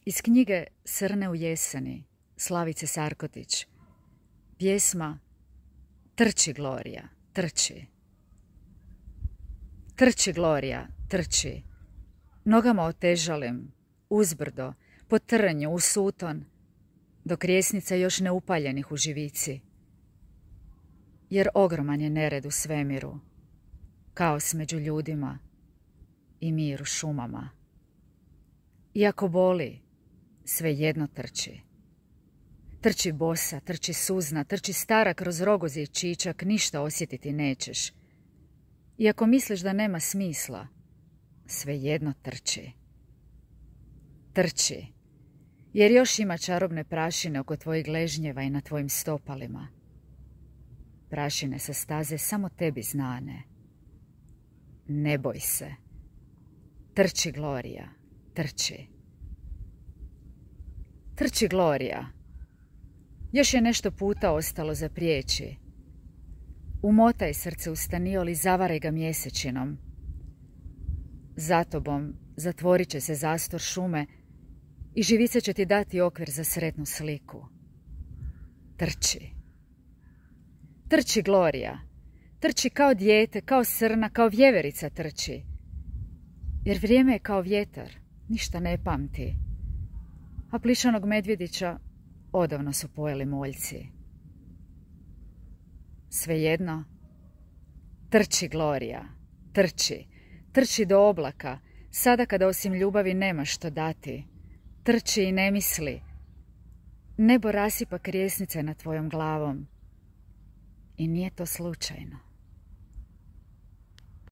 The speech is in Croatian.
Iz knjige Srne u jeseni, Slavice Sarkotić, pjesma Trči Glorija, trči. Trči Glorija, trči. Nogama otežalim, uzbrdo, po trnju, u suton, dok rijesnica još ne upaljenih u živici. Jer ogroman je nered u svemiru, kaos među ljudima i mir u šumama. Iako boli, svejedno trči. Trči bosa, trči suzna, trči stara kroz rogozi i čičak, ništa osjetiti nećeš. Iako misliš da nema smisla, svejedno trči. Trči, jer još ima čarobne prašine oko tvojih gležnjeva i na tvojim stopalima. Prašine sa staze samo tebi znane. Ne boj se. Trči Glorija, trči. Trči Glorija. Još je nešto puta ostalo za prijeći. Umotaj srce u staniol i zavaraj ga mjesečinom. Za tobom zatvorit će se zastor šume i živica će ti dati okvir za sretnu sliku. Trči. Trči Glorija. Trči kao dijete, kao srna, kao vjeverica trči. Jer vrijeme je kao vjetar, ništa ne pamti. A plišanog medvjedića odavno su pojeli moljci. Svejedno, trči Glorija, trči. Trči do oblaka, sada kada osim ljubavi nema što dati. Trči i ne misli. Nebo rasipa krijesnice nad tvojom glavom. I nije to slučajno.